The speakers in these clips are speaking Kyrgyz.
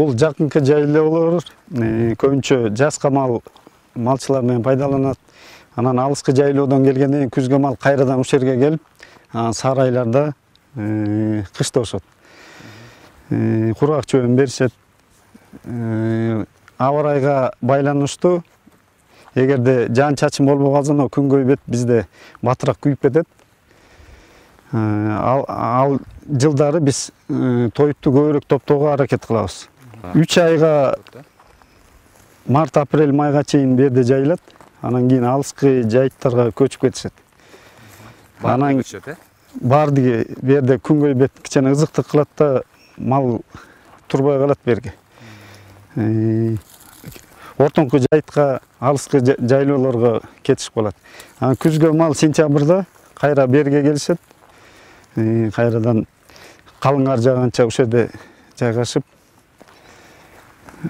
Бул жакынкы жайлоолор көбүнчө жазга малчылар менен пайдаланат. Анан алыскы жайлоодон келгенден кийин күзгө мал кайрадан ушул жерге келип, сары айларда кышташат. Кургак чөбүн беришет. Аба ырайга байланыштуу. Эгерде жаан чачын болбой калса, күн көйбөт бизде батыраак күйүп кетет. Ал жылдары биз тоютту көбүрөөк топтоого аракет кылабыз. 3 айга март, апрель, майга чейин берде жайылат. Анан кийин алыскы жайыттарга көчүп кетишет. Анан бардыгы берде күн көйбөт кичине ызыктык кылат да, мал турбай калат берге. Ортоңку жайытка, алыскы жайлоолорго кетишип калат. Анан күзгө мал сентябрда кайра берге келишет. Кайрадан калың кар жааганча ошол жерде жайгашып,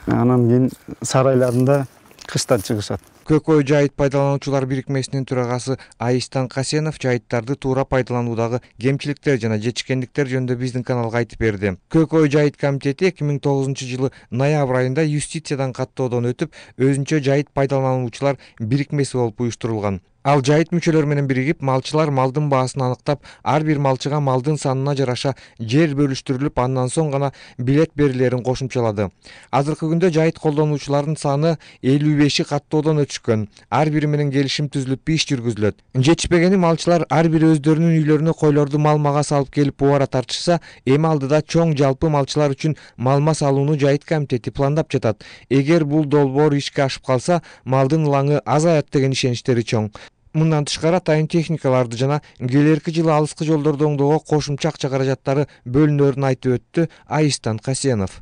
анан кийин сары айларында кыштан чыгышат. Көк ой жайыт пайдалануучулар бирикмесинин төрагасы Айыстан Касенов жайыттарды туура пайдалануудагы кемчиликтер жана жетишкендиктер жөнүндө биздин каналга айтып берди. Көк ой жайыт комитети 2009-жылы ноябрь айында юстициядан каттоодон өтүп, өзүнчө жайыт пайдалануучулар бирикмеси болуп уюштурулган. Ал жайыт мүчөлөрү менен биригип, малчылар малдын баасын аныктап, ар бир малчыга малдын санына жараша жер бөлүштүрүлүп, андан соң гана билет берилерин кошумчалады. Азыркы күндө жайыт колдонуучулардын саны 55 каттоодон өтүшкөн. Ар бири менен келишим түзүлүп, иш жүргүзүлөт. Жетишпегени малчылар ар бири өздөрүнүн үйлөрүнө койлорду малмага салып келип убара тартышса, эми алдыда чоң жалпы малчылар үчүн малма салууну жайыт комитети пландап жатат. Эгер бул долбоор ишке ашып калса, малдын ылаңы азаят деген ишеничтери чоң. Мындан тышкары атайын техникаларды жана келерки жылы алыскы жолдорду оңдоого кошумча акча каражаттары бөлүнөрүн айтып өттү Айыстан Касенов.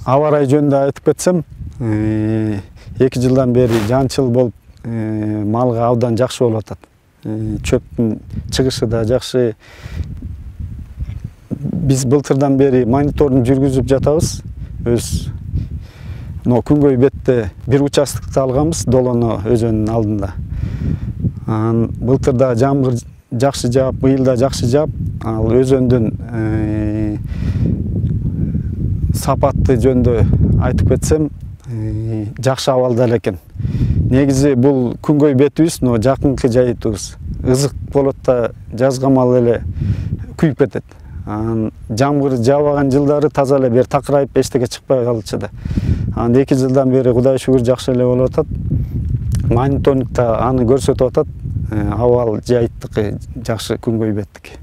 Аба ырайы жөнүндө айтып кетсем, 2 жылдан бери жаанчыл болуп, малга абдан жакшы болуп атат. Чөптүн чыгышы да жакшы. Биз былтырдан бери мониторинг жүргүзүп жатабыз. Күн көйбөттө бир участокты алганбыз, Долоно өзөнүнүн алдында. Былтырда жамгыр жакшы жаап, быйыл да жакшы жаап, ал өзөндүн сапаты жөнүндө айтып кетсем, жакшы абалда экен. Негизи бул күн көйбөтүбүз, жакынкы жайытыбыз ызык болот да, жазга мал эле күйүп кетет. Жамгыр жаабаган жылдары таза эле бер такырайып, эчтеке чыкпай калчу да. 2 жылдан бери Кудай шүгүр жакшы эле болуп атат. Мониторингда аны көрсөтүп атат. Абал жайыттыкы жакшы, күн көйбөттүкү.